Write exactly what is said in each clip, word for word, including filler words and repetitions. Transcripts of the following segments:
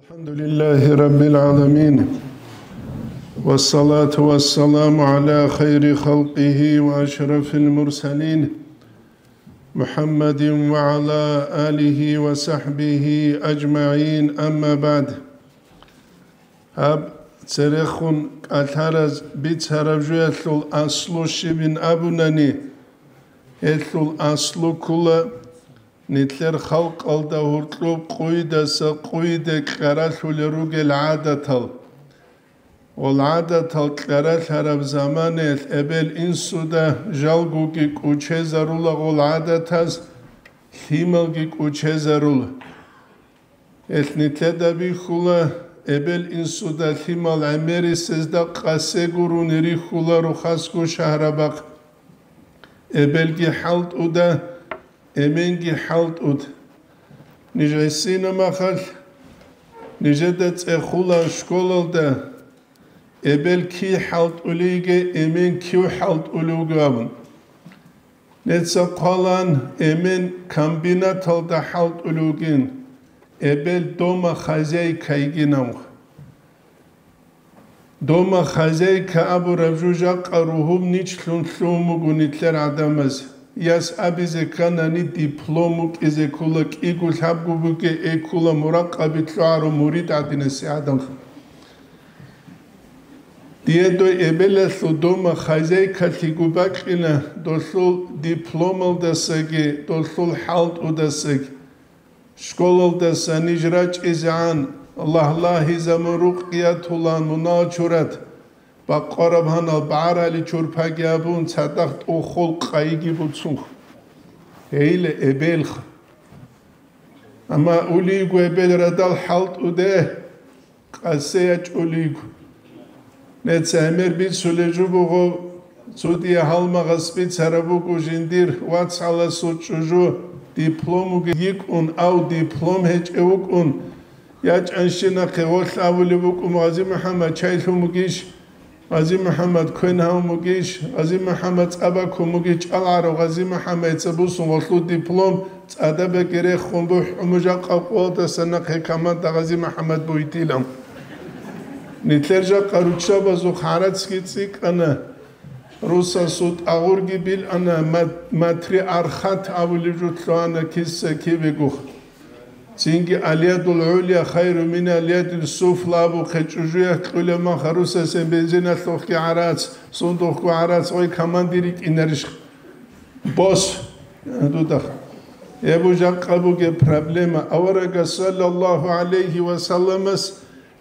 الحمد لله رب العالمين، والصلاة والسلام على خير خلقه وأشرف المرسلين، محمد وعلى آله وصحبه أجمعين، أما بعد. Гьаб церехун кӀалъараз бицараб жоялъул аслу щибин абунани, гьелъул аслу ккола нилъер халкъалда гьоркьоб къойидаса къойиде кьаралъулел ругел гӀадатал. Гъол гӀадатал кьаралъараб заманаялъ эбел-инсуда жалгоги кӀучезарула гъол гӀадатаз, лъималги кӀучезарула. Гьелъ нилъеда бихьула, эбел-инсуда лъимал гӀемерисезда къасе гурони рихьула рухасго шагьарабахъ. Эбелги хӀалтӀуда, эменги хӀалтӀуда. Ниж гӀисина махалъ, нижеда цӀехула школалда, эбел кив хӀалтӀулейги, эмен кив хӀалтӀулев вуго абун. Неца хъвалан, эмен комбинаталда хӀалтӀулев вугин, эбел дома хозяйка йигин абун. Дома хозяйка абураб жо жакъа ругьуб ничлъун лъугьун буго нилъер гӀадамаз. Яс абизе кканани диплом букӀизе ккола, кӀиго лъабго бугеги ккола, муракъаби лъугӀарав мурид гӀадинасе гӀадан. Дие дой эбелалъул дома хозяйкалъиго бакьина, долъул дипломалдасаги, долъул хӀалтӀудасаги. Школалдаса ниж рачӀизегӀан, лагьлагьизабун рукъиятулан мунагьал чурат, бакъвараб гьанал багӀарали чурпаги абун, цадахъ тӀухул къайиги буцунх. Гьейла эбелха. Амма улейго эбел радал хӀалтӀуде, къасе ячӀулейго. Неца гӀемер бицулей жо буго, цо дие гьалмагъас бицараб буго жиндир вацгӀаласул чӀужу дипломуги йикӀун, ав диплом гьечӀев вукӀун, ячӀанщинахъе гъолъ абулеб букӀун, Гъази-МухӀаммад, чай лъун бугищ? Гъази-МухӀаммад, квен гьавун бугищ? Гъази-МухӀаммад, цӀа бакун бугищ? ЧӀалгӀарав Гъази-МухӀаммадица бусун гъолъул диплом цӀадабеги рехун бухӀун буго жакъа къоялдаса нахъе команда Гъази-МухӀаммад бугьитилан. Нилъер жакъа руччабазухъ гӀарацги цӀикӀкӀана, русасул тӀагъурги билана, мат-, матри архат абулеб жо лъугьана киса-кибего. Цинги алядул гӀулия хайру мин алядил суфла абухъе чӀужуялъ кьулеб мах русасен бензиналъухъги гӀарац, сундухъго гӀарац гъой командир йикӀинарищ? Бос, дудах. Гьеб жакъа бугеб проблема. Аварагас саллаллагьу гӀалайгьи ва салламас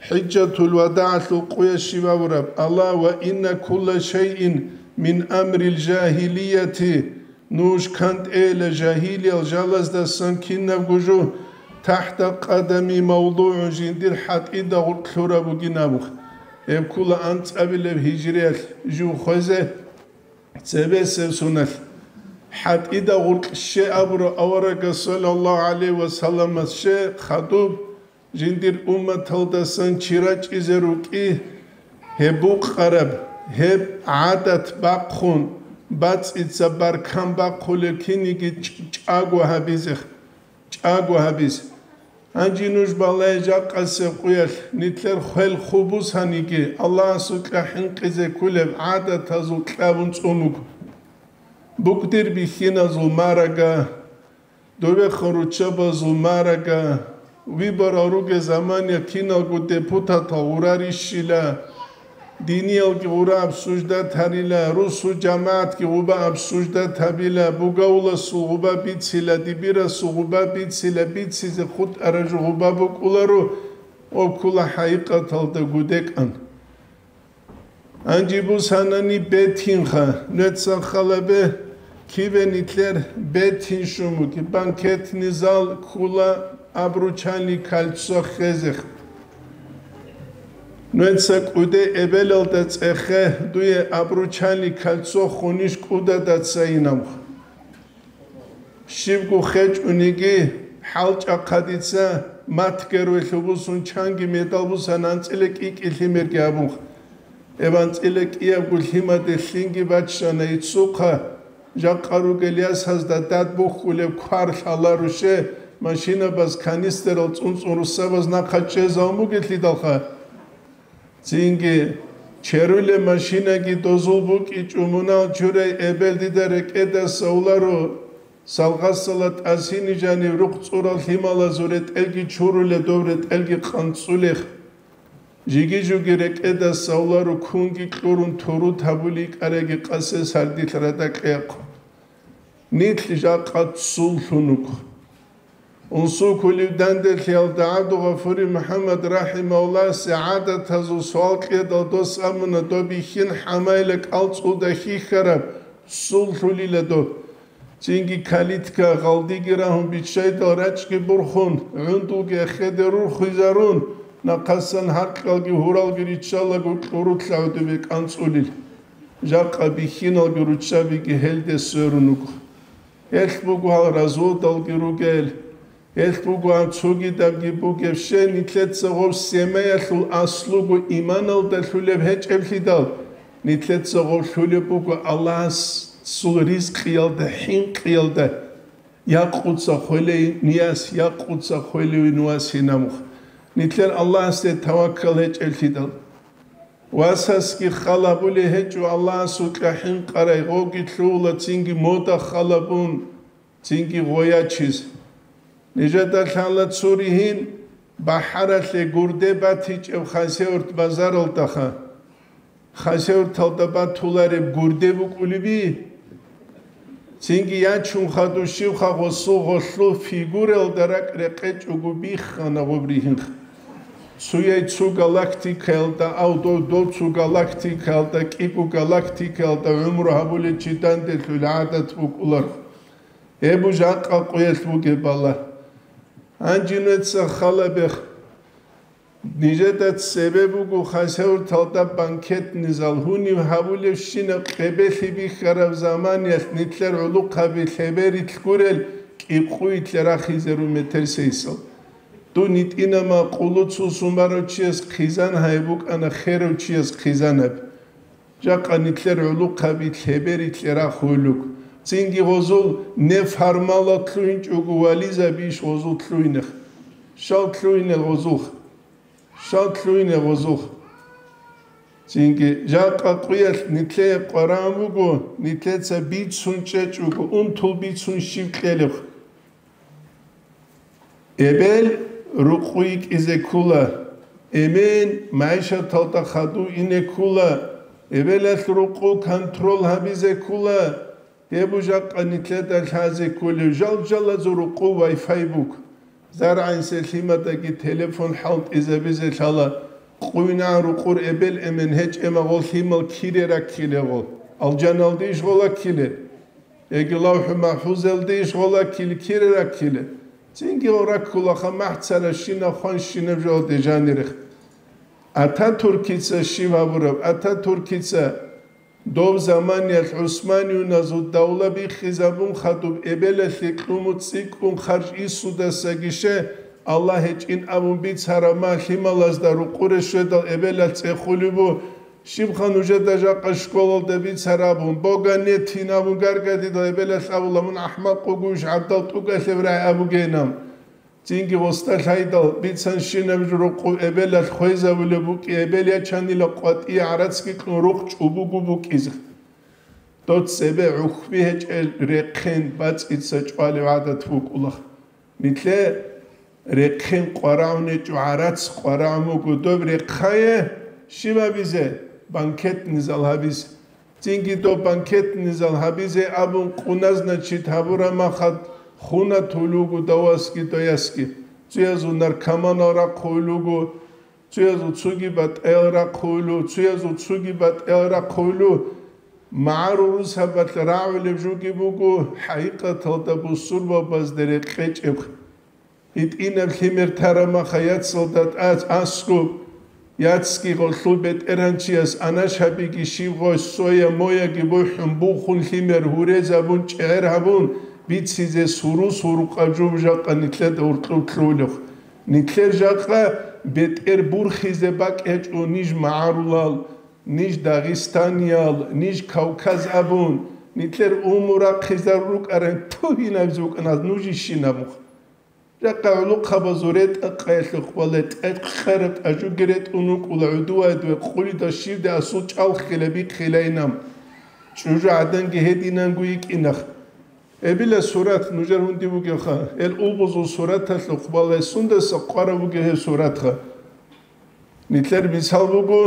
хӀижжатул вадагӀалъул къоялъ щиб абураб: «Ала ва инна кулла шайин мин амрил жагьилияти». Нуж кантӀейила жагьилиял жалаздасан кинабго жо тахӀта къадами мавдугӀун жиндир хӀатӀида гъуркь лъураб бугин абухъ. Гьеб ккола анцӀабилеб гьижриялъ жив хвезе цебесеб соналъ. ХӀатӀида гъуркь ще абураб аварагас саллаллагьу гӀалайгьи ва салламас ще хадуб жиндир умматалдасан чи рачӀизе рукӀи, гьеб букъараб, гьеб гӀадат бахъун, бацӀица баркан бахъулеб кинниги чӀ-, чӀаго гьабизе, чӀаго гьабизе. Гьанже нуж балай жакъасеб къуялъ нилъер хвел хъубусаниги, Аллагьасукьа хӀинкъизе кколеб гӀадатазул кьабун цӀун буго. БукӀдир бихьиназул марага, довехун руччабазул марага, выборал ругел заманаялъ киналго депутатал гъурарищила, диниялги гъура обсуждать гьарила, русул жамагӀатги гъуба обсуждать гьабила, бугавуласул гъуба бицила, дибирасул гъуба бицила, бицизе хутӀараб жо гъуба букӀуларо, гьеб ккола хӀакъикъаталда гудекӀан. Гьанже бусанани бетинха, нуца халабе киве нилъер бетин шумуги, банкетный зал ккола обручальный кольцо хезех. Нуца кӀуде эбелалда цӀехе дуе обручальный кольцо хунищ кӀудада цайинавха. Щибго хечӀониги, хӀалчӀахъа дица матгер ве лъубусун чанги медал бусан анцӀила кӀи-кӀи лъимерги абунха. Эб анцӀила кӀиябго лъимаде лъинги баччана иццухъа, жакъа ругел ясазда дад бухьулеб квар лъаларуше, машинабаз канистерал цӀун-цӀун руссабаз нахъа чӀезавун бугелъидалха. Цинги черулеб машинаги дозул букӀичӀо, мунал чурай эбел дида рекӀедаса уларо, салгъасала тӀасини жанив рухъ цӀурал лъималазул ретӀелги чуруле, доб ретӀелги къанцӀулех. Жиги-жуги рекӀедаса уларо, кунги кьурун турут гьабулей кӀараги къасе сардилъ радакьеяхъ. Нилъ жакъа ццул лъун вуго. Унсукулив данделъиялда ГӀабдулгъафури МухӀаммад рахӀимагьуллагьасе гӀадатазул суал кьедал дос абуна, доб бихьин хӀамайла кӀалцӀулда хьихьараб ццул лъулила доб. Цинги калитка гъалдиги рагьун биччайдал рачӀги бурхун, гӀундулги эхеде рурхуйзарун, нахъасан гьаркьалги гьуралги риччалаго кьурулъа гӀодобе кӀанцӀулел. Жакъа бихьиналги руччабиги гьелде сверун вуго. Гьелъ буго гьал разводалги ругел, гьелъ буго гьаб цогидабги бугеб щай, нилъеца гъоб семаялъул аслуго иманалда лъулеб гьечӀеблъидал, нилъеца гъоб лъулеб буго Аллагьасул ризкъиялда, хӀинкъиялда, якъуца хвелей нияс, якъуца хвелевин вас гьинамух. Нилъер Аллагьасде таваккал гьечӀеблъидал. Васасги хал гьабулей гьечӀо Аллагьасукьа хӀинкъарай, гъоги лъугьула цинги мода хал гьабун, цинги гъоячиз. Нижеда лъала цури гьин бахӀаралъе гурде батичӀеб Хасавюрт базаралдаха. Хасавюрталда батулареб гурде букӀулеби? Цинги ячун хадув щивха гъосул гъолъул фигуралда ракӀ рекъечӀого биххана гъоб ригьинха. Цуяй цу галактикаялда, ав дов, дов цу галактикаялда, кӀиго галактикаялда гӀумру гьабулел чи данделъул гӀадат букӀулар. Гьеб жакъа къуялъ бугеб бала. Гьанже нуца халабех. Нижеда цебе буго Хасавюрталда банкетный зал, гьуниб гьабулебщинаб къебелъи бихьараб заманиялъ нилъер гӀулухъаби лъеберилъ гурел кӀикъуйлъе рахизе рун метер сейсал. Дун гьитӀинама къулуцул сумарав чияс хъизан гьай букӀана херав чияс хъизанаб. Жакъа нилъер гӀулухъаби лъеберилъе рахуйлуг. Цинги гъозул не формалал лъугьинчӀого вализабищ гъозул лъугьинех? Щал лъугьине гъозулх? Щал лъугьине гъозулх? Цинги жакъа къуялъ нилъее къварагӀун буго, нилъеца бицун чӀечӀого, унтул бицун щив кьелеб? Эбел рукъу йикӀизе ккула, эмен майшаталда хадув ине ккула, эбелалъ рукъу контрол гьабизе ккула, гьеб жакъа нилъеда лъазе кколев жал-жалазул рукъу Wi-Fi буго. ЗаргӀинсе лъимадаги телефон хӀалтӀизабизе лъала, къуйнагӀан рукъур эбел-эмен гьечӀема гъол лъимал кире раккилего, алжаналдейищ гъола ккиле? Яги ЛавхӀу МахӀфузалдейищ гъола ккиле, кире раккиле? Цинги гъол раккулаха махӀцаращинаб хванщинаб жоялде жанирех. Ататуркица щиб гьабураб? Ататуркица дов заманиялъ ГӀусманиюназул давла биххизабун хадуб эбелалъе кьуму цӀикӀкӀун харж исудасаги ше, Аллагь гьечӀин абун бицараб ма лъималазда рукъуре щведал эбелалъ цӀехулеб бу, щибха нужеда жакъа школалда бицарабун, бога нетин абун гаргадидал эбелалъ абула, мун ахӀмакъ вугуш гӀабдал тӀугалъев рагӀи абугейин. Цинги гъоста лъайдал бицанщинаб жо рукъу эбелалъ хвезабулеб букӀи, эбел ячанила къватӀие гӀарацги кьун рухъ чӀубугу букӀизе. Дов цебе гӀухьби гьечӀел рехъен бацӀица чӀвалев гӀадат букӀула. Нилъе рехъен къварагӀун гьечӀо, гӀарац къварагӀун буго, доб рехъае щиб гьабизе? Банкетный зал гьабизе. Цинги доб банкетный зал гьабизе абун къуназначит гьабураб махад хунатулугу давасги доясги. Цуязул наркоманал рахъулугу, цуязул цуги батӀел рахъулу, цуязул цуги батӀел рахъулу. МагӀарул русабалъ рагӀулеб жуги буго, хӀакъикъаталда бусурбабазде рекъечӀеб. ГьитӀинаб лъимер тараб маха яцалда тӀац аскӀуб, яцги гъолъул бетӀергьанчияс анашабиги щиб гъой соя-мояги бухӀун бухун лъимер гьурезабун чӀегӀер гьабун бицизе сурус гьурукъаб жо жакъа нилъеда гьоркьоб лъугьулев. Нилъер жакъа бетӀер бурхизе бакӀ гьечӀо ниж магӀарулал, ниж дагъистаниял, ниж Кавказ абун, нилъер уму рахъизар рукӀаран тугьинабизе вукӀана нуж ищинаб мух. Жакъа гӀулухъабазул ретӀа-къаялъухъ бале, тӀекъараб тӀажуги ретӀун вукӀула гӀудувайдве къулида щивде асул чӀалхъила бихъилайинаб. ЧӀужугӀаданги гьединанго йикӀинах. Эбила сурат нужер гьунди бугевха, эл улбузул сураталъухъ бале, сундаса къвараб бугев гьев суратха. Нилъер мисал буго,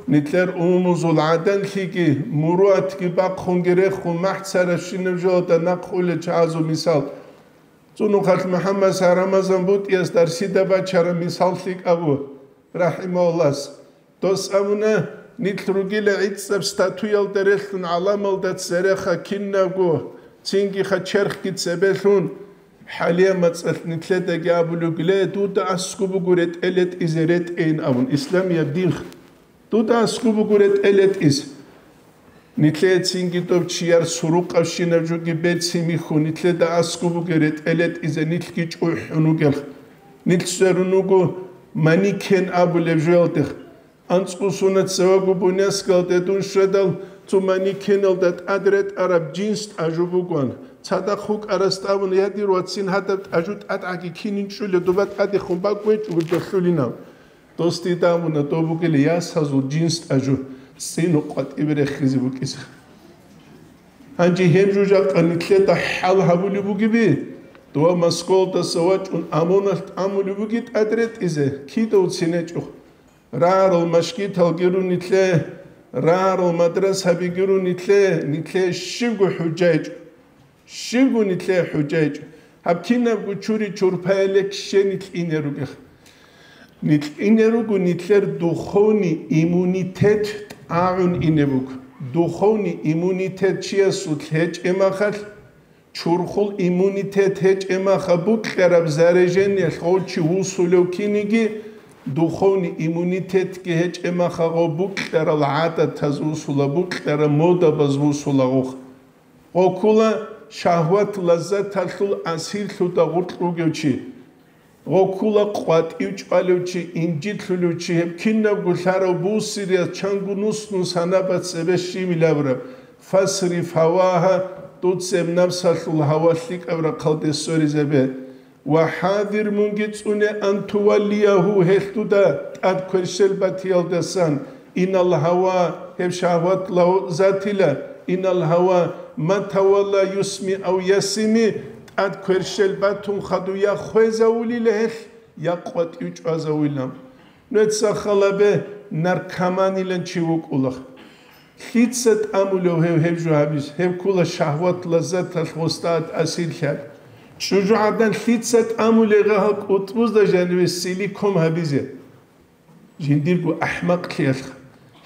нилъер умумузул гӀаданлъиги, муруатги бахъунги рехун махӀцарабщинаб жоялда нахъ улел чагӀазул мисал. Цунухъалъ МухӀаммад Рамазан БутӀияс дарсида бачараб мисал лъикӀабу, рахӀимагьуллас. Дос абуна, нилъ ругила гӀицӀаб статуялда релълъун гӀаламалда цереха кинабго, цинги ха черхги цебелъун, хӀалия мацӀалъ нилъедаги абулев гиле, дуда аскӀуб буго ретӀел ретӀизе ретӀейин абун, исламияб дин. Дуда аскӀуб буго ретӀел ретӀиз. Нилъее цинги доб чияр сурукъабщинаб жуги берцин михьу, нилъеда аскӀуб буго ретӀел ретӀизе нилъги чӀухӀун вугелха. Нилъ сверун вуго манекен абулеб жоялдех. АнцӀго соналъ цевего Буйнакскалде дун щведал, цо манекеналда тӀад ретӀараб жинс тӀажу бугоан. Цадахъ вукӀарас абуна, я, дир вацин, гьадаб тӀажу тӀадгӀаги кинин чӀулев, доба тӀадехун бакӀ гьечӀого долъулинав. Дос дида абуна, доб бугила ясазул жинс тӀажу, цӀинухъ къватӀибе рехизе букӀизе. Гьанже гьеб жо жакъа нилъеда хӀал гьабулеб бугеби, дова Москвалдаса вачӀун ОМОНалъ тӀамулеб буги тӀад ретӀизе, кидав цин гьечӀо. Рагьарал машгиталги рун нилъее, рагьарал мадрасабиги рун нилъее, нилъее щибго хӀужа гьечӀо. Щибго нилъее хӀужа гьечӀо. Гьаб кинабго чури-чурпаялъе ккезе нилъ ине ругех. Нилъ ине руго нилъер духовный иммунитет тӀагӀун ине буго. Духовный иммунитет чиясулъ гьечӀеб махалъ, чурхул иммунитет гьечӀеб маха букьараб заряжениялъ гъов чи вусулев киниги, духовный иммунитетги гьечӀеб маха гъов букьарал гӀадатаз вусула, букьараб модабаз вусула гъов. Гъов ккула шагьват-лаззаталъул асирлъуда гъоркь вугев чи. Гъов ккула къватӀив чӀвалев чи, инжитлъулев чи, гьеб кинабго лъарав бусириялъ чанго нус-нус гьанаб цебе щибил абураб, фасриф гьавагьа, дуца гьеб напсалъул гьава лъикӀаб рахъалде сверизабе. Ва хӀадир, мунги цӀуне, ан туваллиягьу, гьелъ дуда тӀад кверщел батиялдасан, инал гьава, гьеб шагьват лаззатила, инал гьава ма тавалла юсми ав ясими, тӀад кверщел батун хадув я хвезавулила гьелъ, я къватӀив чӀвазавулила. Нуца халабе наркоманилан чи вукӀула. Лъица тӀамулев гьев гьеб жо гьабиз? Гьев ккула шагьват-лаззаталъ гъосда тӀасирлъи. ЧӀужугӀадан лъица тӀамулев гьал кӀутӀбузда жаниве силикон гьабизе? Жиндирго ахӀмакълъиялъха.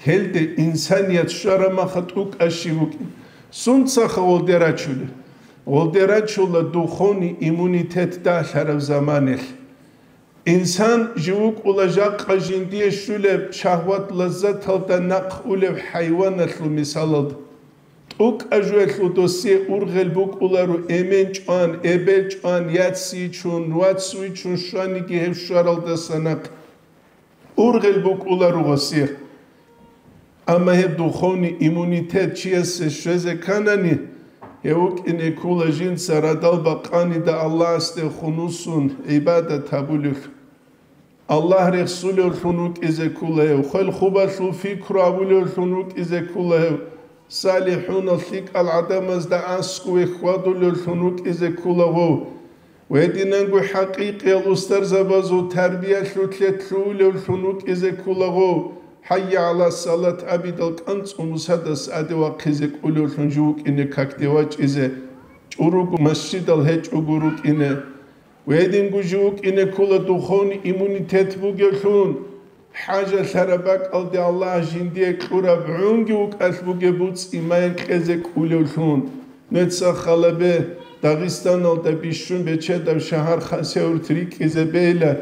Гьелде инсаният щвараб маха тӀукӀа щиб букӀин. Сунцаха гъолде рачулел? Гъолде рачула духовный иммунитет дагьлъараб заманалъ. Инсан жив вукӀула жакъа жиндие щулеб шагьват-лаззаталда нахъ улев хӀайваналъул мисалалда. ТӀукӀа жуялъул досие ургъел букӀуларо эмен чӀван, эбел чӀван, яц йичун, вац вичун щваниги гьев щваралдаса нахъ. Ургъел букӀуларо гъосие. Амма гьеб духовный иммунитет чиясе щвезе кканани, гьев вукӀине ккула жинца радал бакъанида Аллагьасде хунусун гӀибадат гьабулев. Аллагь рехсулевлъун вукӀизе ккула гьев, хвел-хубалъул пикру гьабулевлъун вукӀизе ккула гьев, салихӀунал лъикӀал гӀадамазда аскӀове хьвадулевлъун вукӀизе ккула гъов. Гьединанго хӀакъикъиял устарзабазул тарбиялъулъе лъугьулевлъун вукӀизе ккула гъов, хӀайя гӀала салат абидал кӀанцӀун бусадас аде вахъизе кӀулевлъун жив вукӀине какде вачӀизе, чӀуруго масжидал гьечӀого рукӀине. Гьединго жив вукӀине ккула духовный иммунитет бугевлъун. ХӀажалъараб бакӀалде Аллагь жиндие кьураб гӀунги вукӀалъ бугеб буцӀи маян кьезе кӀулевлъун. Нуца халабе, Дагъистаналда бищун бечедав шагьар Хасавюрт рикӀкӀизе бейла,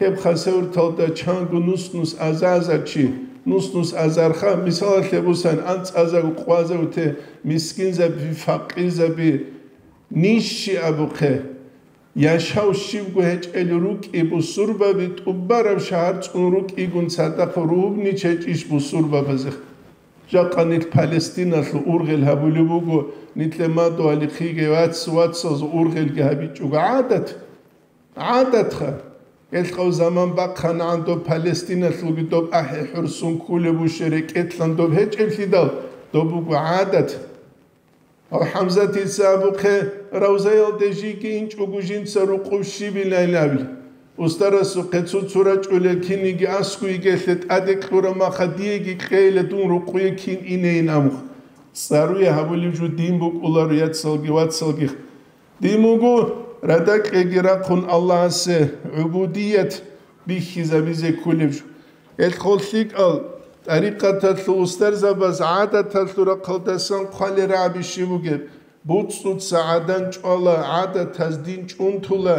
гьеб Хасавюрталда чанго нус-нус азарзаб чи, нус-нус азарха, мисалалъе бусан, анцӀазаби, къвазавте, мискинзаби, факъирзаби, нищи абухъе. Яшав щибго гьечӀел рукӀи бусурбаби, тӀубараб шагьар цӀун рукӀигун цадахъ ругьуничайчӀищ бусурбабазе? Жакъа нилъ Палестиналъул ургъел гьабулеб буго, нилъе мадугьалихъиги вац-вацазул ургъелги гьабичӀого гӀадат. ГӀадатха. Гьелъ гъав заман бахъанагӀан доб Палестиналъулги доб ахӀи хӀурсун кколеб буше рекӀелъан доб гьечӀеблъидал, доб буго гӀадат. Гьав ХӀамзатица абухъе, равзаялде жиги инчӀого жинца рукъуб щибилайин абли. Устарасухъе цо-цо рачӀулел киниги аскӀу йигелъе тӀаде кьураб маха диеги кьейила дун рукъуе кин инейин абухъ. ЦӀаруе гьабулеб жо дин букӀуларо, яцалги вацалги. Дин буго, радакьеги рахъун Аллагьасе гӀубудият бихьизабизе кколеб жо. Гьелъ хол лъикӀал тӀарикъаталъул устарзабаз гӀадаталъул рахъалдасан хъвалел рагӀаби щиб бугеб? БуцӀцӀуца гӀадан чӀвала, гӀадатаз дин чӀунтула,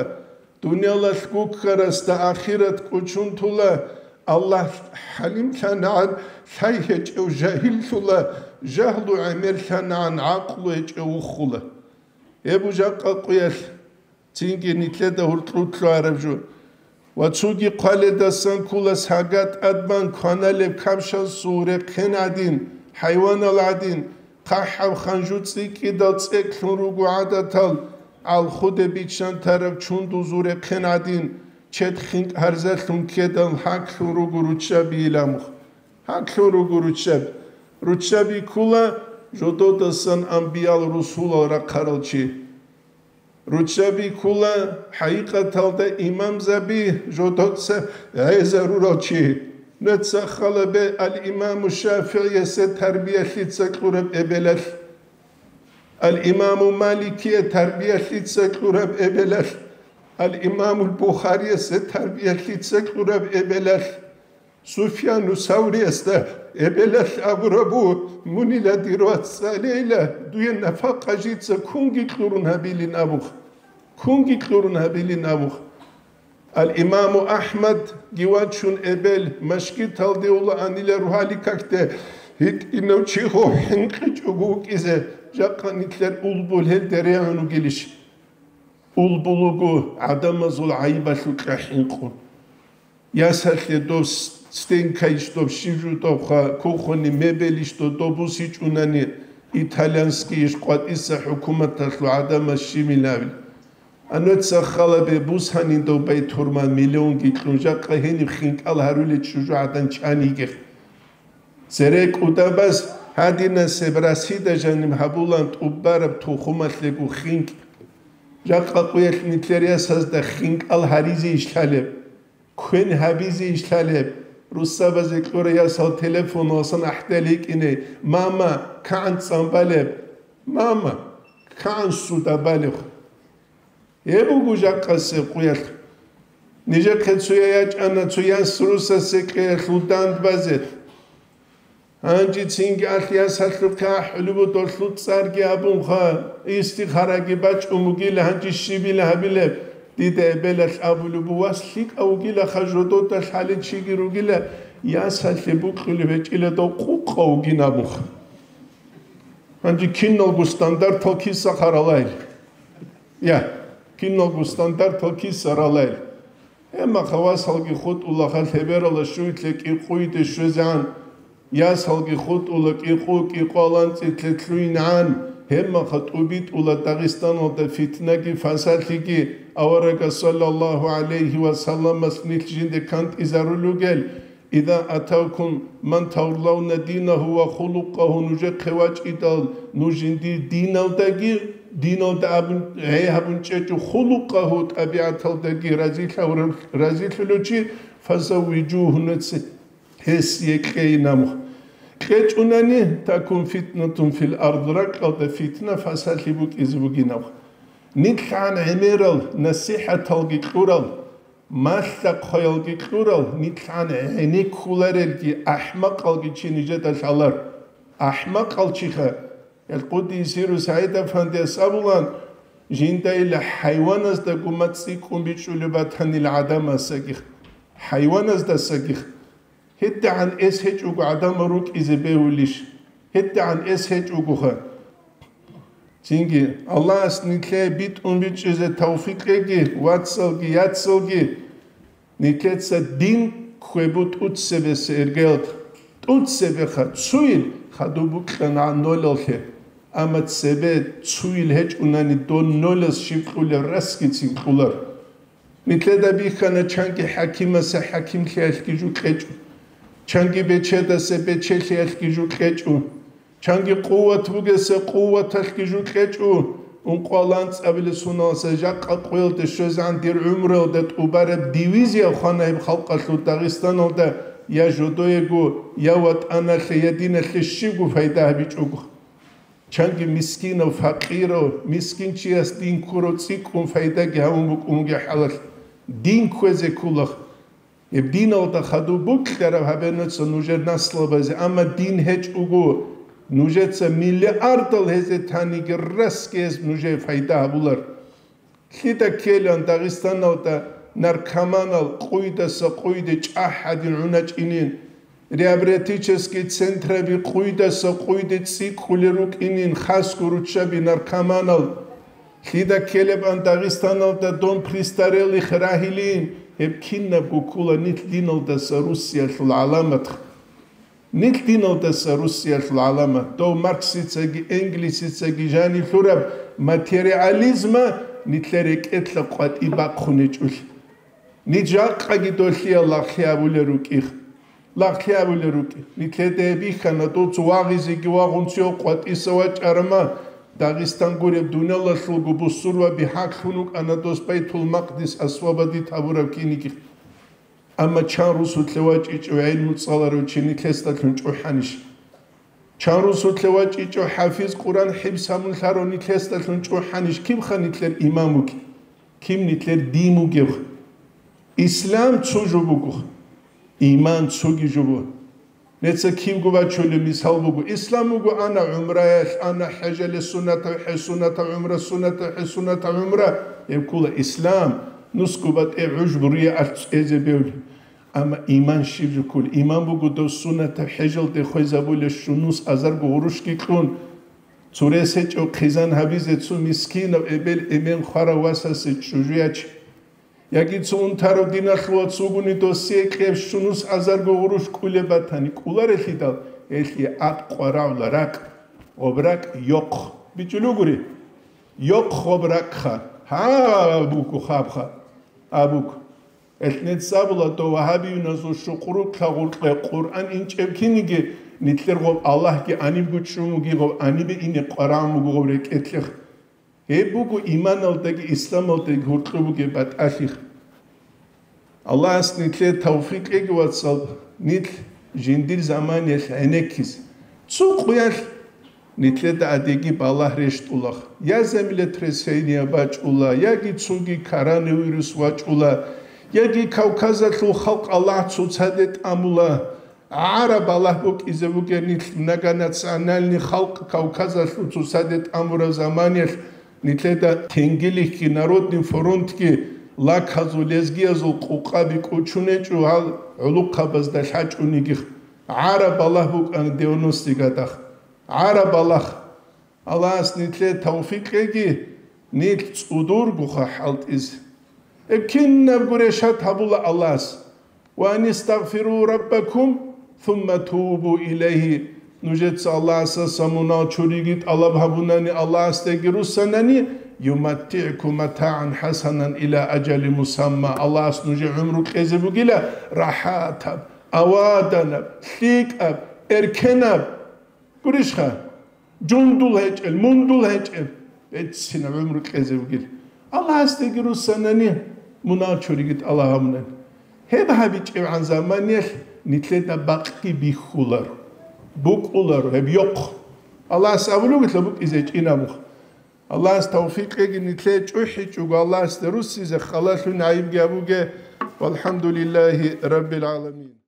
дуниялалъ гуккарасда ахират кӀучунтула, Аллагь хӀалимлъанагӀан лъай гьечӀев жагьиллъула, жагьлу гӀемерлъанагӀан гӀакълу гьечӀев вухула. Гьеб жакъа къуялъ цинги нилъеда гьуркьулъ лъугьараб жо. Ва цоги хъваледасан ккола сага тӀадбан кваналеб капшасул рехъен гӀадин, хӀайванал гӀадин, хъахӀаб ханжу цӀикӀкӀидал цӀекӀлъун руго гӀадатал, гӀалхуде биччан тараб чундузул рехъен гӀадин, чед хинкӀ гьарзалъун ккедал гьаклъун руго руччаби иламухъ. Гьаклъун руго руччаби. Руччаби ккула жододасан анбиял-русулал рахъарал чи. Руччаби ккула хӀакъикъаталда имамзаби жодоца гӀезарурал чи. Нуца халабе ал-Имаму ШафигӀиясе тарбиялъица кьураб эбелалъ, ал-Имаму Маликие тарбиялъица кьураб эбелалъ, ал-Имамул Бухариясе тарбиялъица кьураб эбелалъ. Суфьяну Савриясда эбелалъ абурабу, мунила дир вацӀцӀалейила, дуе нафакъа жица кунги кьурун гьабилин абухъ. Кунги кьурун гьабилин абухъ. Ал-Имаму Ахмадги вачун эбел, машгиталде ула анила рухӀали какде, гьитӀинав чи гъов хӀинкъичӀого вукӀизе, жакъа нилъер улбул гьелде регӀун вугилищ? Улбул вуго гӀадамазул гӀайибалъукьа хӀинкъун. Ясалъе дос стенкайищ доб щиб жудабха, кухони мебелищ додо бусичӀунани, итальянскийищ къватӀиса хӀукуматалъул гӀадамаз щибилавил. Ануца халабе бусанин доб байтурман миллионги кьун, жакъа гьениб хинкӀал гьарулел чӀужугӀадан чан йигех. Цере кӀудабаз гьадинасеб расида жаниб гьабулан тӀубараб тухумалъего хинкӀ. Жакъа къуялъ нилъер ясазда хинкӀал гьаризе иш лъалеб? Квен гьабизе иш лъалеб? Руссабазе кьура ясал телефонал сан ахӀдал йикӀине: «Мама, кагӀан цӀан балеб? Мама, кагӀан суда балеб?» Гьеб буго жакъасеб къуялъ. Нижехъе цоя ячӀана цо яс русасе кьеялъул дандбазе. Гьанжецинги алъ ясалъухъе ахӀулеб буго долъул цӀарги абунха, истихараги бачӀун бугила, гьанже щибила гьабилеб? Дида эбелалъ абулеб буго: «Вас лъикӀав вугилаха, жодода лъалел чиги ругила, ясалъе букьулеб гьечӀила дов къукъав вугин», абунха. Гьанже киналго стандартал киса харалайил? Я, киналго стандартал киса ралайил? Гьебмаха васалги хутӀулаха лъеберала щуйлъе кӀикъуйде щвезегӀан, ясалги хутӀула кӀикъу, кӀикъуялда анцӀила лъугьинегӀан, гьебмаха тӀубитӀула Дагъистаналда фитнаги фасалъиги, аварагас саллаллагьу гӀалайгьи ва салламас нилъ жинде кантӀизарулел ругел, «Иза атавкум ман тардавна динагьу ва хулукъагьу», нужехъе вачӀидал, нуж жиндир диналдаги, диналда абун, гӀей гьабун чӀечӀо, хулукъагьу, тӀабигӀаталдаги разилъав-, разилъулев чи, «фазаввижугьу», нуц гьесие кьейин абухъ. КьечӀунани, «такун фитнатун фил ард», ракьалда фитна, фасалъи букӀизе бугин абухъ. НилъгӀан гӀемерал насихӀаталги кьурал, малъа-хъваялги кьурал, нилъгӀан гӀенеккуларел ахӀмакъалги чи нижеда лъалар. АхӀмакъал чиха, гьел Къуддиса сирругьу СагӀид-афандияс абулан, жинда ила хӀайваназдаго мацӀ цӀикӀкӀун бичӀчӀулеб батанила гӀадамасагих, хӀайваназдасагих. ГьедигӀан эс гьечӀого гӀадамал рукӀизе бегьулищ? ГьедигӀан эс гьечӀогоха. Цинги, Аллагьас нилъее битӀун бичӀчӀизе тавфикъ кьеги, вацалги, яцалги, нилъеца дин кквебу тӀуцебесеб иргъелда. ТӀуцебеха, цуил хадуб букьана нолалъе, амма цебе цуил гьечӀунани дон нолас щиб кьулеб расгицин кьулар. Нилъеда бихьана чанги хӀакимасе хӀакимлъиялъги жо кьечӀо, чанги бечедасе бечелъиялъги жо кьечӀо, чанги къуват бугесе къуваталъги жо кьечӀо. Ункъо анцӀабилеб соналдаса жакъа къоялде щвезегӀан дир гӀумруялда тӀубараб дивизия хвана гьеб халкъалъул Дагъистаналда, я жодоего, я ватӀаналъе, я диналъе щибго пайда гьабичӀого. Чанги мискинав, факъирав, мискинчияс дин ккурав цӀикӀкӀун пайдаги гьабун букӀун бугеб хӀалалъ, дин кквезе ккола. Гьеб диналда хадуб бокьараб гьабенаца нужер наслабазе, амма дин гьечӀого, нужеца миллиардал гьезе таниги расги гьез нужее пайда гьабулар. Лъида ккелан Дагъистаналда наркоманал къуйдаса къуйде чӀахӀадин гӀуначӀинин, реабилитический центраби къуйдаса къуйде цӀикӀкӀулел рукӀинин, хасго руччаби наркоманал. Лъида ккелебан Дагъистаналда дом престарелых рагьилин, гьеб кинабго ккола нилъ диналдаса руссиялъул гӀаламат. Нилъ диналдаса руссиялъул гӀаламат, дов Марксицаги Энгельсицаги жаниб лъураб материализма нилъер рекӀелъа къватӀи бахъун гьечӀолъи. Ниж жакъаги долъиял лагълъи абулел рукӀих. Лагълъи абулел рукӀи. Нилъеда гьеб бихьана, дов цо вагъизеги вагъун цо къватӀиса вачӀарама, Дагъистан гуреб дуниялалъулго бусурбаби гьаклъун вукӀана дос Байтул-Макъдис освободить гьабураб кинигихъ. Амма чан русулъе вачӀичӀев гӀелму цӀаларав чи нилъесдалъун чӀухӀанищ? Чан русулъе вачӀичӀев хӀафиз Къуран хӀибс гьабун лъарав нилъесдалъун чӀухӀанищ? Кибха нилъер иман вугеб? Киб нилъер дин вугеб? Ислам цо жо буго, иман цоги жо буго. Неца кибго бачулеб мисал буго: ислам буго ана гӀумраялъ, ана хӀежалъе суннатав хӀе, суннатав гӀумра, суннатав хӀе, суннатав гӀумра. Гьеб ккола ислам, нусго батӀи гӀуж бурие алъ цӀезе бевли. Амма иман щиб жо ккола? Иман буго дов суннатав хӀежалде хвезабулеб щунус азарго гъурущги кьун, цо рес гьечӀев хъизан гьабизе, цо мискинав эбел-эмен хварав васасе чӀужу ячи. Яги цо унтарав диналъул вац вугони, досие кьеб щунус азарго гъурущ кӀулеб батани, кӀуларелъидал, гьелъие аб къварагӀула ракӀ, гъоб ракӀ йохъ. БичӀчӀулугури? Йохъ гъоб ракӀха. Гьа, абуго хабха. Абуго. Гьелъ нецабула дов вагьабиюназул щукърукьа гъуркье Къуръан инчӀеб киниги, нилъер гъоб Аллагьги анибго чӀун вуги, гъоб анибе ине къварагӀун вуго гъоб рекӀелъех. Гьеб буго иманалдаги исламалдаги гьоркьоб бугеб батӀалъи. Аллагьас нилъее тавфикъ кьеги, вацал, нилъ жиндир заманиялъ гӀенеккизе. Цо къуялъ нилъеда гӀадиги балагь рещтӀула, я землетрясение бачӀула, яги цоги коронавирус вачӀула, яги Кавказалъул халкъ Аллагь цоцаде тӀамула. ГӀараб балагь букӀизе бугеб нилъ, многонациональный халкъ Кавказалъул цоцаде тӀамураб заманиялъ нилъеда тенгилихьги, Народный фронтги, лаказул, лезгиязул къукъаби кӀочунечӀо гьал гӀулухъабазда лъачӀониги. ГӀараб балагь букӀана девяностый годах. ГӀараб балагь. Аллагьас нилъее тавфикъ кьеги, нилъ цӀудургоха хӀалтӀизе. Гьеб кинабго решат гьабула Аллагьас. «Ва анистагъфиру раббакум, сумма тубу илайгьи». Нужеца Аллагьасдаса мунагь чуриги тӀалаб гьабунани, Аллагьасдаги руссанани, «юматтигӀкум матагӀан хӀасанан ила ажали мусамма». Аллагьас нужее гӀумру кьезе бугила рахӀатаб, аваданаб, лъикӀаб, эркенаб. Гурищха? Жундул гьечӀел, мундул гьечӀел, беццинаб гӀумру кьезе вугил. Аллагьасдаги руссанани, мунагь чуриги тӀалаб гьабунани. Гьеб гьабичӀебгӀан заманиялъ нилъеда бакъги бихьуларо, букӀуларо гьеб йохъ. Аллагьас абулеб бугила букӀизе гьечӀин абухъ. Аллагьас тавфикъ кьеги, нилъее чӀухӀичӀого Аллагьасде руссизе, халалъун гӀайибги гьабуге. Валхамдулиллагьи раббил гӀаламин.